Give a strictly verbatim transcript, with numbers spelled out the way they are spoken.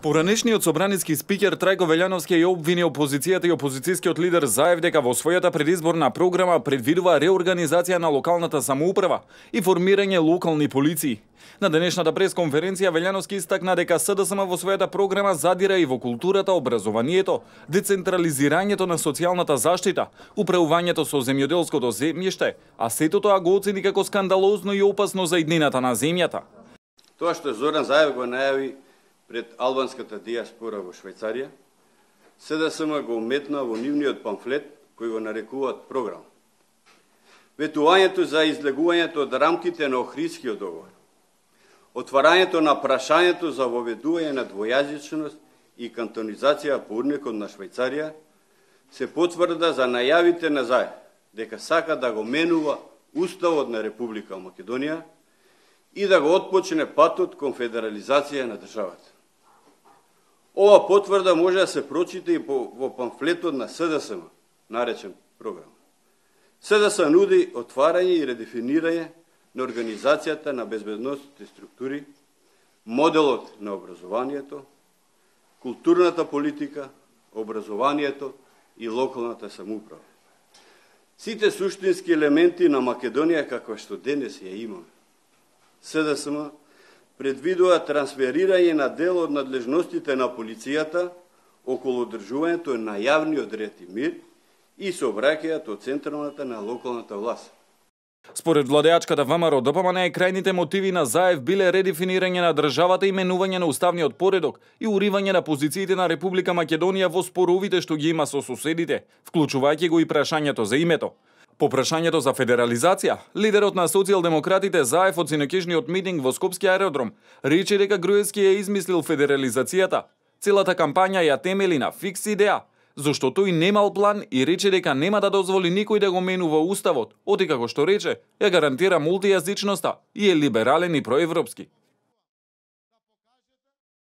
Поранешниот собраниски спикер Трајко Велјановски ја обвини опозицијата и опозицијскиот лидер Заев дека во својата предизборна програма предвидува реорганизација на локалната самоуправа и формирање локални полиции. На денешната пресконференција Велјановски истакна дека СДСМ во својата програма задира и во културата, образованието, децентрализирањето на социјалната заштита, управувањето со земјоделското земјиште, а сето тоа го оцени како скандалозно и опасно за иднината на земјата. Тоа што Зоран Заев го најави пред албанската диаспора во Швајцарија, СДСМ го уметна во нивниот памфлет кој го нарекуваат програм. Ветувањето за излегувањето од рамките на Охридскиот договор, отварањето на прашањето за воведување на двојазичност и кантонизација по урникот на Швајцарија се потврда за најавите на Заев дека сака да го менува Уставот на Република Македонија и да го отпочне патот кон федерализација на државата. Ова потврда може да се прочита и во памфлетот на СДСМ, наречен програм. СДС нуди отварање и редефинирање на организацијата на безбедносните структури, моделот на образованието, културната политика, образованието и локалната самоуправа. Сите суштински елементи на Македонија каква што денес ја имаме. СДСМ предвидува трансферирање на дел од надлежностите на полицијата околу одржувањето на јавниот ред и мир и сообраќајот од централната на локалната власт. Според владеачката ВМРО ДПМН, крајните мотиви на Заев биле редефинирање на државата и менување на уставниот поредок и уривање на позициите на Република Македонија во споровите што ги има со соседите, вклучувајќи го и прашањето за името. По прашањето за федерализација, лидерот на социјалдемократите Заев од синокишниот митинг во Скопски аеродром рече дека Груевски ја измислил федерализацијата. Целата кампања ја темели на фикс идеја, зашто тој немал план и рече дека нема да дозволи никој да го менува уставот, оти како што рече, ја гарантира мултијазичноста и е либерален и проевропски.